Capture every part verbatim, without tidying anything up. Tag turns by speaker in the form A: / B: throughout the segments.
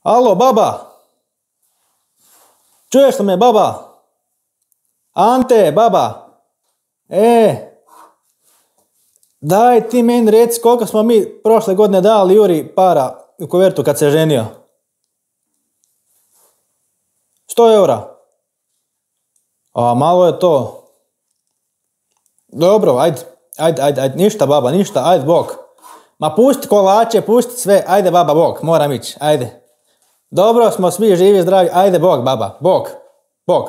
A: Alo, baba! Čuješ li me, baba? Ante, baba! E, daj ti meni reci koliko smo mi prošle godine dali Juri para u kuvertu kad se ženio. Sto eura. A malo je to. Dobro, ajde, ajde, ajde, ajde, ništa baba, ništa, ajde, bok. Ma pusti kolače, pusti sve, ajde baba, bok, moram ići, ajde. Dobro smo svi živi, zdravi, ajde bok baba, bok, bok.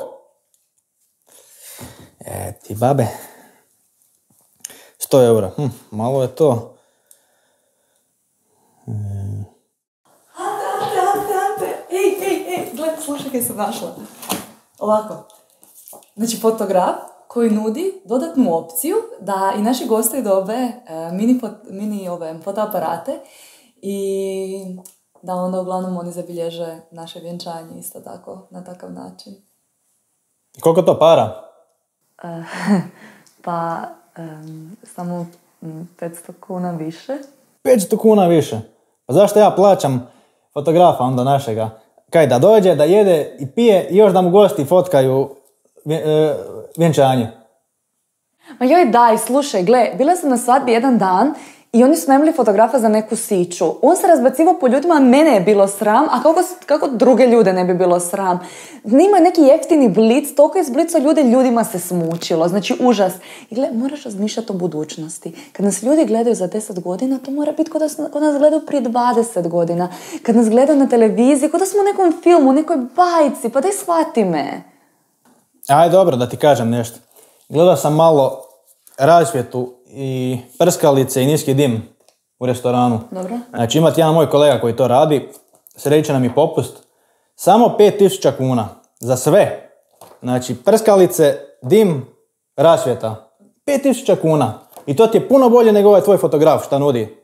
A: E ti babe. Sto eura, hm, malo je to.
B: Hmm. Ante, Ante, Ante, Ante, ej, ej, ej, gledaj, slušaj kaj sam našla. Ovako, znači fotograf koji nudi dodatnu opciju da i naši gosti dobe e, mini, fot, mini ove, fotoaparate i da onda uglavnom oni zabilježe naše vjenčanje isto tako, na takav način.
A: I koliko to para?
B: E, pa, um, samo petsto kuna više.
A: petsto kuna više? Pa zašto ja plaćam fotografa onda našega? Kaj, da dođe, da jede i pije i još da mu gosti fotkaju vjenčanje?
B: Ma joj daj, slušaj, gle, bila sam na svadbi jedan dan i oni su najmili fotografa za neku siću. On se razbacivao po ljudima, mene je bilo sram, a kako, kako druge ljude ne bi bilo sram? Nima neki jeftini blic, toliko je zblicao ljude, ljudima se smučilo, znači užas. I gle, moraš razmišljati o budućnosti. Kad nas ljudi gledaju za deset godina, to mora biti kod nas, kod nas gledaju prije dvadeset godina. Kad nas gledaju na televiziji, kod da smo u nekom filmu, u nekoj bajci, pa daj shvati me.
A: Aj, dobro, da ti kažem nešto. Gledao sam malo rasvjetu i prskalice i niski dim u restoranu.
B: Dobro.
A: Znači, imati jedan moj kolega koji to radi, sreće nam i popust. Samo pet tisuća kuna za sve. Znači, prskalice, dim, rasvjeta. pet tisuća kuna. I to ti je puno bolje nego ovaj tvoj fotograf šta nudi.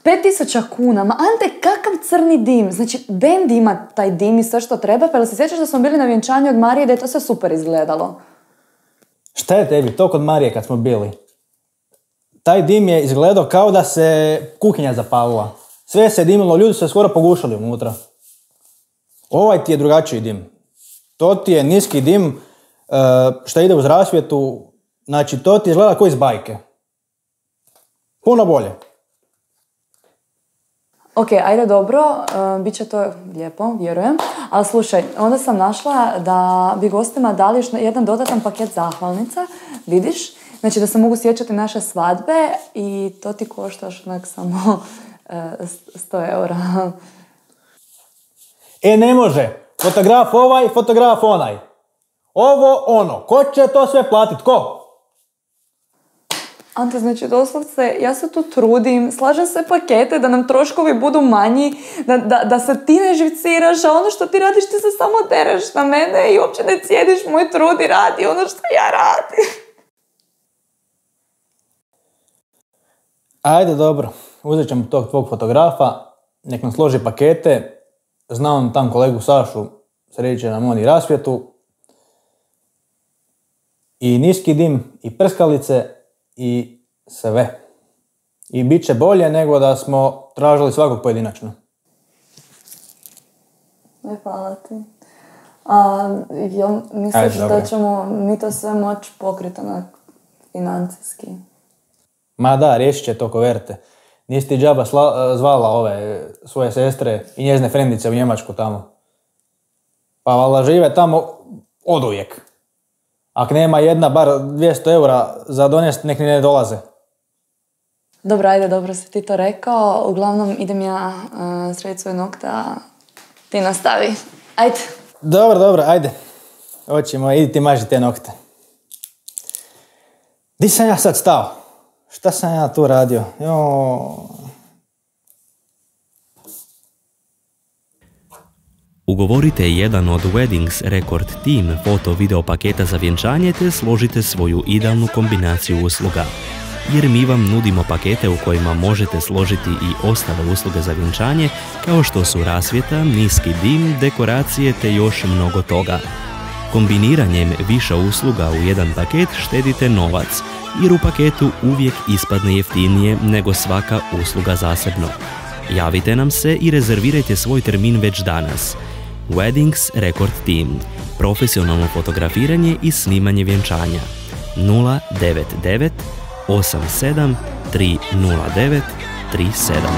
B: pet tisuća kuna? Ma Ante, kakav crni dim? Znači, bend ima taj dim i sve što treba, pa jel se sjećaš da smo bili na vjenčanju od Marije da je to sve super izgledalo?
A: Šta je tebi? To kod Marije kad smo bili. Taj dim je izgledao kao da se kuhinja zapalila. Sve se dimilo, ljudi su se skoro pogušali unutra. Ovaj ti je drugačiji dim. To ti je niski dim što ide uz rasvjetu. Znači, to ti izgleda kao iz bajke. Puno bolje.
B: Ok, ajde dobro, uh, bit će to lijepo, vjerujem. Ali slušaj, onda sam našla da bi gostima dali još jedan dodatan paket zahvalnica, vidiš? Znači da se mogu sjećati naše svadbe i to ti koštaš onak samo uh, sto eura.
A: E, ne može. Fotograf ovaj, fotograf onaj. Ovo, ono. Ko će to sve platit? Ko?
B: Ante, znači doslovce, ja se tu trudim, slažem sve pakete da nam troškovi budu manji, da, da, da se ti ne živciraš, a ono što ti radiš ti se samo dereš na mene i uopće ne cijediš moj trud i radi ono što ja radim.
A: Ajde, dobro. Uzet ćemo tog tvog fotografa, nek nam složi pakete, znam tam kolegu Sašu, sreće nam on i rasvjetu, i niski dim, i prskalice, i sve. I bit će bolje nego da smo tražili svakog pojedinačno.
B: Ne, hvala ti. A, jel misliš
A: Ajde,
B: da ćemo mi to sve moći pokriti onak financijski?
A: Ma da, riješit će to koverte. Nisi ti džaba sla, zvala ove svoje sestre i njezine frendice u Njemačku tamo. Pa valjda žive tamo oduvijek. Ako nema jedna bar dvjesto eura za donest, nek ni ne dolaze.
B: Dobro, ajde, dobro si ti to rekao. Uglavnom idem ja uh, srediti svoje nokte, a ti nastavi. Ajde.
A: Dobro, dobro, ajde. Hoćemo, idi ti maži te nokte. Di sam ja sad stao? Šta sam ja tu radio? Jo...
C: Ugovorite jedan od Weddings Record Team foto-video paketa za vjenčanje te složite svoju idealnu kombinaciju usluga. Jer mi vam nudimo pakete u kojima možete složiti i ostale usluge za vjenčanje kao što su rasvjeta, niski dim, dekoracije te još mnogo toga. Kombiniranjem više usluga u jedan paket štedite novac, jer u paketu uvijek ispadne jeftinije nego svaka usluga zasebno. Javite nam se i rezervirajte svoj termin već danas. Weddings Record Team. Profesionalno fotografiranje i snimanje vjenčanja. nula devet devet osam sedam tri nula devet tri sedam.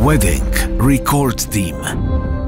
D: Wedding Record Team.